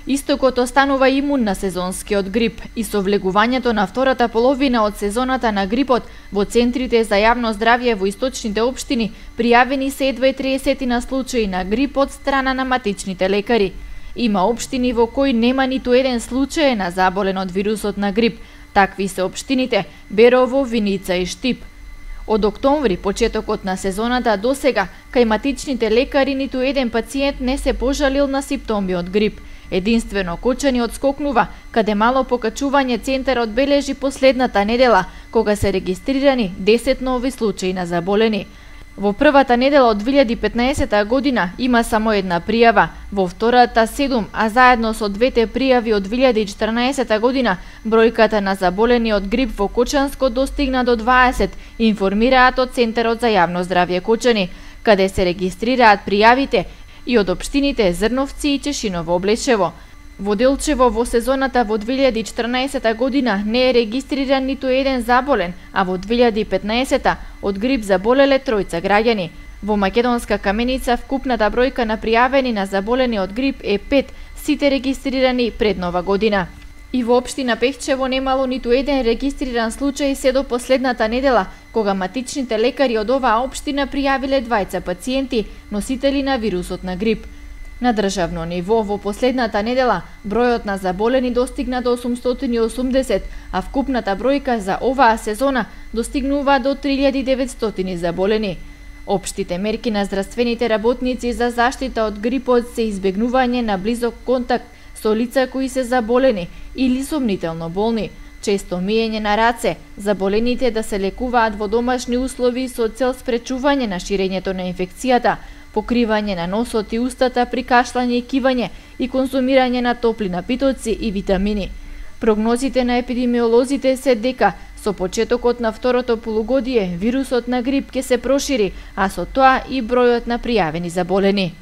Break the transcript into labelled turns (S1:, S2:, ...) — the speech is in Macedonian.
S1: Истокот останува имун на сезонскиот грип и со влегувањето на втората половина од сезоната на грипот во центрите за јавно здравје во источните општини пријавени се едва 30 на случаи на грип од страна на матичните лекари. Има општини во кои нема ниту еден случај на заболен од вирусот на грип. Такви се општините Берово, Виница и Штип. Од октомври, почетокот на сезоната до сега, кај матичните лекари ниту еден пациент не се пожалил на симптоми од грип. Единствено Кочани одскокнува, каде мало покачување центарот бележи последната недела, кога се регистрирани 10 нови случаи на заболени. Во првата недела од 2015 година има само една пријава, во втората 7, а заедно со двете пријави од 2014 година бројката на заболени од грип во Кочанско достигна до 20, информираат од Центарот за јавно здравје Кочани, каде се регистрираат пријавите и од општините Зрновци и Чешиново Облешево. Во Делчево во сезоната во 2014 година не е регистриран ниту еден заболен, а во 2015 од грип заболеле 3 граѓани. Во Македонска Каменица вкупната бројка на пријавени на заболени од грип е 5, сите регистрирани пред Нова година. И во општина Пехчево немало ниту еден регистриран случај се до последната недела, кога матичните лекари од оваа општина пријавиле 2 пациенти, носители на вирусот на грип. На државно ниво во последната недела бројот на заболени достигна до 880, а вкупната бројка за оваа сезона достигнува до 3900 заболени. Општите мерки на здравствените работници за заштита од грипот се избегнување на близок контакт со лица кои се заболени или сомнително болни, често миење на раце, заболените да се лекуваат во домашни услови со цел спречување на ширењето на инфекцијата, покривање на носот и устата при кашлање и кивање и конзумирање на топли напитоци и витамини. Прогнозите на епидемиолозите се дека со почетокот на второто полугодие вирусот на грип ќе се прошири, а со тоа и бројот на пријавени заболени.